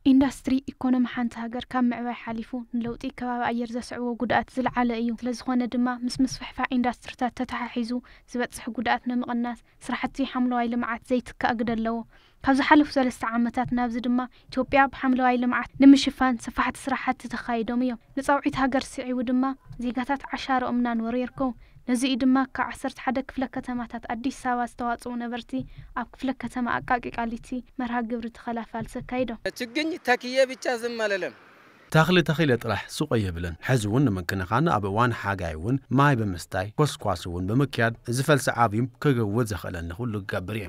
ኢንዳስትሪ ኢኮኖሚ ሓንቲ ሃገር ካብ ምዕባይ ሓሊፉ ንለውጢ ከባቢ ኣየር ዘስዕቦ ጉድኣት ዝለዓለ እዩ። ስለዝኾነ ድማ ምስ ምስፍሕፋሕ ኢንዳስትሪታት ተተሓሒዙ ዝበፅሕ ጉድኣት ንምቕናስ ስራሕቲ ሓምለዋይ ልምዓት ዘይትካእ ግደ ኣለዎ። ካብ ዝሓለፉ ሰለስተ ዓመታት ናብዚ ድማ ኢትዮጵያ ብሓምለዋይ ልምዓት ንምሽፋን ሰፋሕቲ ስራሕቲ ተኻይዶም እዮም። ንፃውዒት ሃገር ስዒቡ ድማ ዜጋታት ዓሻርኦም እናንበሩ ይርከቡ። ነዚ እዩ ድማ ካብ ዓሰርተ ሓደ ክፍለ ከተማታት ኣዲስ ኣበባ ዝተዋፅኡ ነበርቲ ኣብ ክፍለ ከተማ ኣቃቂ ቃሊቲ መርሃ ግብሪ ተኸላ ፋልሲ ኣካይዶም። ችግኝ ተክዬ ብቻ ዝም አልልም። ተኽሊ ተኺለ ጥራሕ ሱቕ የብለን። ሕዚ እውን ንምክንኻን ኣብ እዋን ሓጋይ እውን ማይ ብምስታይ ኮስኳስ እውን ብምክያድ እዚ ፈልሲ ዓብዩ ክግውት ዘኽእለኒ ኩሉ ክገብር እየ።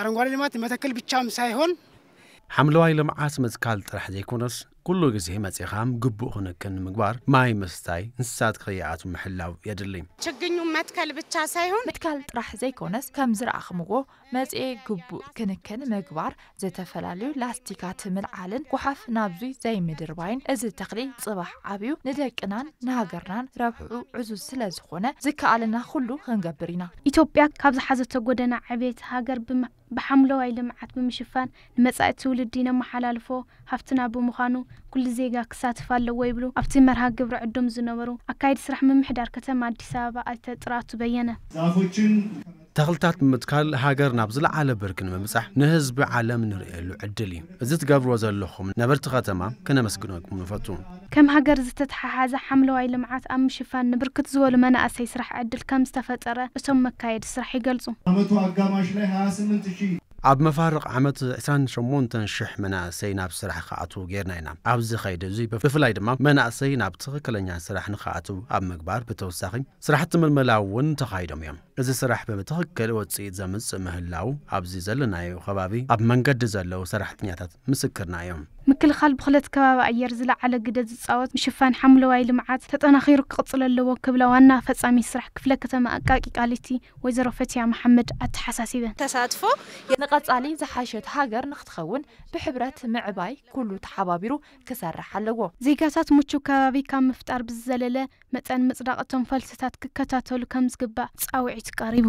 አረንጓዴ ልማት መተከል ብቻም ሳይሆን ሓምለዋይ ልምዓት ምትካል ጥራሕ ዘይኮነስ ኩሉ ግዜ መፂኻ ግቡእ ክንክን ንምግባር ማይ ምስታይ፣ እንስሳት ከይኣትዉ ምሕላው የድሊ። ችግኙ መትከል ብቻ ሳይሆን ምትካል ጥራሕ ዘይኮነስ ከም ዝረኣኽምዎ መፅኤ ግቡእ ክንክን ምግባር፣ ዝተፈላለዩ ላስቲካት ምልዓልን ጓሓፍ ናብዙይ ዘይምድርባይን እዚ ተኽሊ ፅባሕ ዓብዩ ንደቅናን ንሃገርናን ረብሕኡ ዕዙዝ ስለ ዝኾነ ዝከኣለና ኩሉ ክንገብር ኢና። ኢትዮጵያ ካብ ዝሓዘቶ ጎደና ዕብየት ሃገር ብም- ብሓምለዋይ ልምዓት ብምሽፋን ንመጻኢ ትውልዲ ነመሓላልፎ ሃፍትና ብምዃኑ ኩሉ ዜጋ ክሳተፍ ኣለዎ ይብሉ ኣብቲ መርሃ ግብሪ ዕዱም ዝነበሩ ኣካየዲ ስራሕ ምምሕዳር ከተማ ኣዲስ ኣበባ ኣይተ ጥራቱ በየነ። ዛፎችን ተኽልታት ብምትካል ሃገር ናብ ዝለዓለ ብርኪ ንምብጻሕ ንህዝቢ ዓለም ንርእየሉ ዕድል እዩ። እዚ ትገብርዎ ዘለኹም ነበርቲ ከተማ ክነመስግነኩም ንፈቱ። ከም ሃገር ዝተተሓሓዘ ሓምለዋይ ልምዓት ኣብ ምሽፋን ንብርክት ዝበሉ መናእሰይ ስራሕ ዕድል ከም ዝተፈጠረ እቶም መካየዲ ስራሕ ይገልጹ። ዓመቱ ኣጋማሽ ላይ ሃያ ስምንት ሺህ ኣብ መፋርቕ ዓመት ዕስራን ሸሞንተን ሽሕ መናእሰይ ናብ ስራሕ ክኣትዉ ጌርና ኢና። ኣብዚ ኸይዲ እዚ ብፍላይ ድማ መናእሰይ ናብ ትኽክለኛ ስራሕ ንኽኣትዉ ኣብ ምግባር ብተወሳኺ ስራሕቲ ምልመላ እውን ተኻይዶም እዮም። እዚ ስራሕ ብትኽክል ውፅኢት ዘምፅእ ምህላው ኣብዚ ዘለናዮ ከባቢ ኣብ መንገዲ ዘለዉ ሰራሕተኛታት ምስክርና እዮም። ምክልኻል ብኽለት ከባቢ ኣየር ዝለዓለ ግደ ዝፃወት ምሽፋን ሓምለዋይ ልምዓት ተጠናኺሩ ክቕፅል ኣለዎ ክብላ ዋና ፈፃሚት ስራሕ ክፍለ ከተማ ኣቃቂ ቃሊቲ ወይዘሮ ፈትያ መሓመድ ኣተሓሳሲበን። ተሳትፎ ንቐጻሊ ዝሓሸት ሃገር ንክትኸውን ብሕብረት ምዕባይ ኩሉ ተሓባቢሩ ክሰርሕ ኣለዎ። ዜጋታት ምቹ ከባቢ ካብ ምፍጣር ብዝዘለለ መጠን ምጽዳቕ እቶም ፈልስታት ክከታተሉ ከም ዝግባእ ጻውዒት ቀሪቡ።